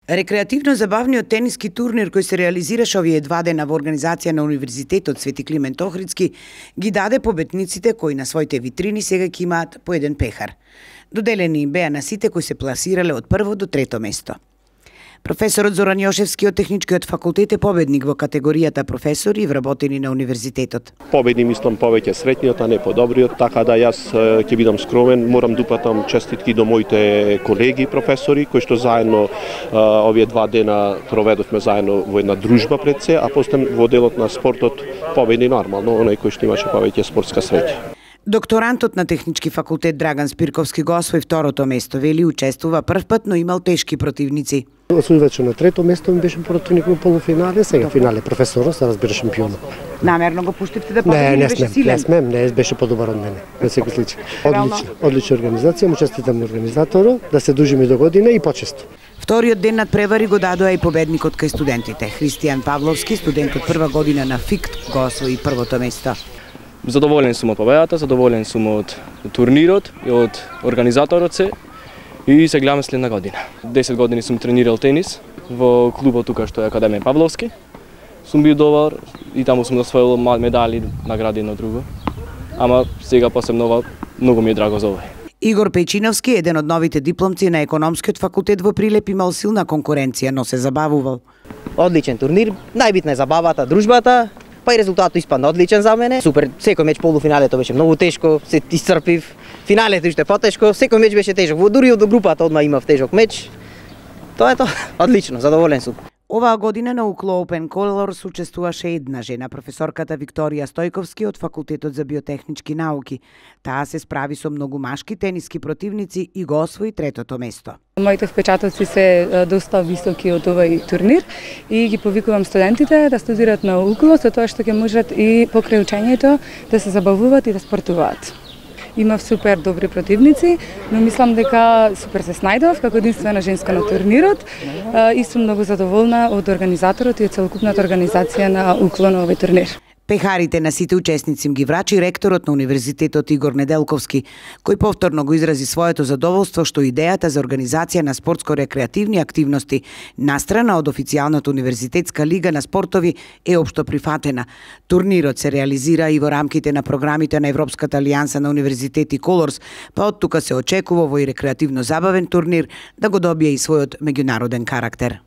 Рекреативно-забавниот тениски турнир кој се реализираше овие 2 дена во организација на Универзитетот Свети Климент Охридски ги даде победниците кои на своите витрини сега ќе имаат по еден пехар. Доделени им беа на сите кои се пласирале од прво до трето место. Професорот Зоран Јошевски од Техничкиот факултет е победник во категоријата професори и вработени на универзитетот. Победни мислам повеќе среќниот, а не подобриот, така да јас ќе бидам скромен, морам да упатам честитки до моите колеги професори кои што заедно овие 2 дена проведовме заедно во една дружба пред се, а после во делот на спортот победни нормално оној кој што имаше повеќе спортска среќа. Докторантот на Технички факултет Драган Спирковски го освои второто место, вели учествува прв пат, но имал тешки противници. Освојувачот на трето место ми беше противник во полуфинале, сега финале професорот, се разбира шампионот. Намерно го пуштивте да победи, беше силен? Не, беше подобар од мене, на секој случај. Одлична организација, му честитам на организаторот, да се дружиме до година и почесто. Вториот ден надпревари го дадоа и победникот кај студентите. Христијан Павловски, студент од прва година на ФИКТ, го освои првото место. Задоволен сум од победата, задоволен сум од турнирот и од организаторот се и се гледаме следна година. 10 години сум тренирал тенис во клубот тука што е Академија Павловски. Сум бил добар и таму сум освоил медали, награди едно друго. Ама сега посебно многу ми е драго за овој. Игор Пејчиновски, еден од новите дипломци на Економскиот факултет во Прилеп, имал силна конкуренција, но се забавувал. Одличен турнир, најбитна е забавата, дружбата. Па и резултатот испадна одличен за мене. Супер, секој меч полуфиналето беше многу тешко, се исцрпив. Финалето уште потешко, секој меч беше тежок. Дури од групата одма имав тежок меч. Тоа е тоа. Одлично, задоволен сум. Оваа година на UCLO Open Colors учествуваше една жена, професорката Викторија Стојковски од Факултетот за биотехнички науки. Таа се справи со многу машки тениски противници и го освои третото место. Моите впечатоци се доста високи од овој турнир и ги повикувам студентите да студираат на UCLO со тоа што ќе можат и покрај учењето да се забавуваат и да спортуваат. Имав супер добри противници, но мислам дека супер се снајдов како единствена женска на турнирот и сум многу задоволна од организаторот и од целокупната организација на UCLO на овој турнир. Пехарите на сите учесници им ги врачи ректорот на Универзитетот Игор Неделковски, кој повторно го изрази своето задоволство што идејата за организација на спортско-рекреативни активности настрана од официјалната универзитетска лига на спортови е општо прифатена. Турнирот се реализира и во рамките на програмите на Европската алијанса на универзитети Колорс, па од тука се очекува овој рекреативно забавен турнир да го добие и својот меѓународен карактер.